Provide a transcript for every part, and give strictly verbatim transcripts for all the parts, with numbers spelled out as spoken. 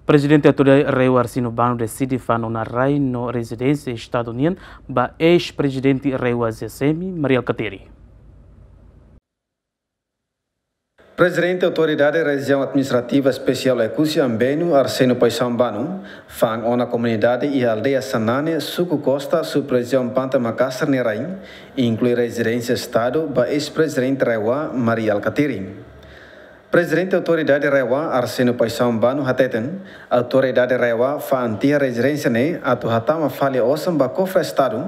Prezidente Autoridade RAEOA Arsénio Bano deside fa'an ona rai no rezidénsia Estadu nian ba eis-prezidente RAEOA ZEESM, Mari Alkatiri. Prezidente Autoridade Rejiaun Administrativa Espesiál Oekusi Ambenu, Arsénio Paixão Bano, fa'an ona komunidade iha aldeia Sanane, suku Costa, sub-rejiaun Pante Makasar nia rai, inklui rezidénsia Estadu ba eis-prezidente RAEOA, Mari Alkatiri. Prezidente Autoridade RAEOA, Arsénio Paixão Bano, hateten, Autoridade RAEOA fa'an tiha rezidénsia ne'e atu hatama fali osan ba kofre Estadu,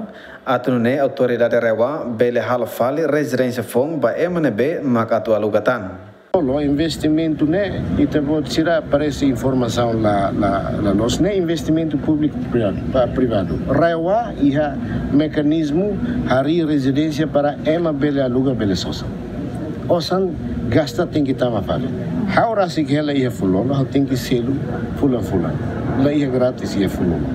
atu nune'e Autoridade RAEOA bele halo fali rezidénsia foun ba ema ne'ebé mak atu aluga tan. Loloos investimentu ne'e, ita-boot sira parese informasaun la, la, la loos, ne'e investimentu públiku privadu, ba privadu. RAEOA iha mekanizmu harii rezidénsia para ema bele aluga, bele sosa. Osan gasta tenke tama fali. Ha'u rasik hela iha Fulolo, ha'u tenke selu fulan-fulan. La iha grátis iha Fulolo.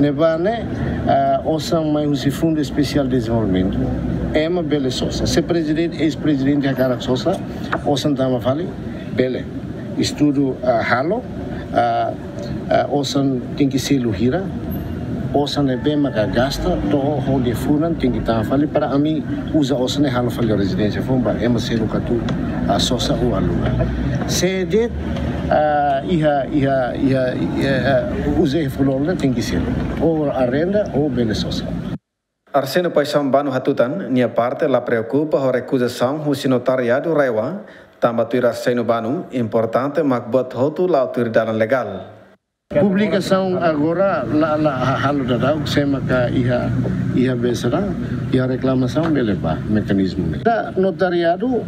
Ne'ebá ne'e, ah, osan mai husi Fundu Espesiál Dezenvolvimentu. Ema bele sosa. Se prezidente, eis-prezidente hakarak sosa, osan tama fali, bele. Estudu, ah, halo, ah, ah, osan tenke selu hira, osan ne'ebé maka gasta, to'o ho liafuan tenke tama fali para ami uza osan ne'e halo fali rezidénsia foun ba ema seluk atu, ah, sosa ou aluga. Se de'it, ah, iha, iha, iha, iha, ah, uza iha Fulolo ne'e tenke selu. Ou arrenda, ou bele sosa. Arsénio Paixão Bano hatutan, nia parte la preokupa ho rekuzasaun husi notariadu RAEOA, tanba tuir Arsénio Bano, importante mak buat hotu la'o tuir dalan legál. Publikasaun agora la, la ha-, halo daudaun, sé maka iha, iha besera, iha reklamasaun bele ba mekanizmu ne'e. Ita notariadu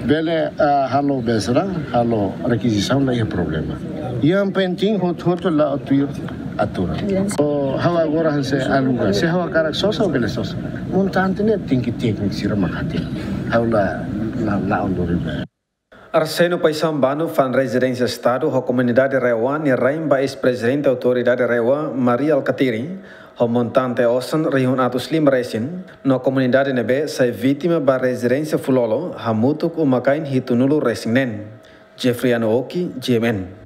bele, ah, halo besera, halo rekizisaun la iha problema. Yang penting hotu-hotu la'o tuir aturan. Ou ha'u agora hanesan aluga, se ha'u hakarak sosa bele sosa. Montante ne'e tenke tékniku sira mak hatene. Ha'u la, la, la'o lori ba. Arsénio Paixão Bano fa'an rezidénsia Estadu ho komunidade RAEOA nia rain ba eis-prezidente Autoridade RAEOA, Mari Alkatiri, ho montante osan rihun atus lima resin, no komunidade ne'ebé sai vítima ba rezidénsia Fulolo, hamutuk uma-kain hitunulu resin neen. Jeffriano Oki, G M N.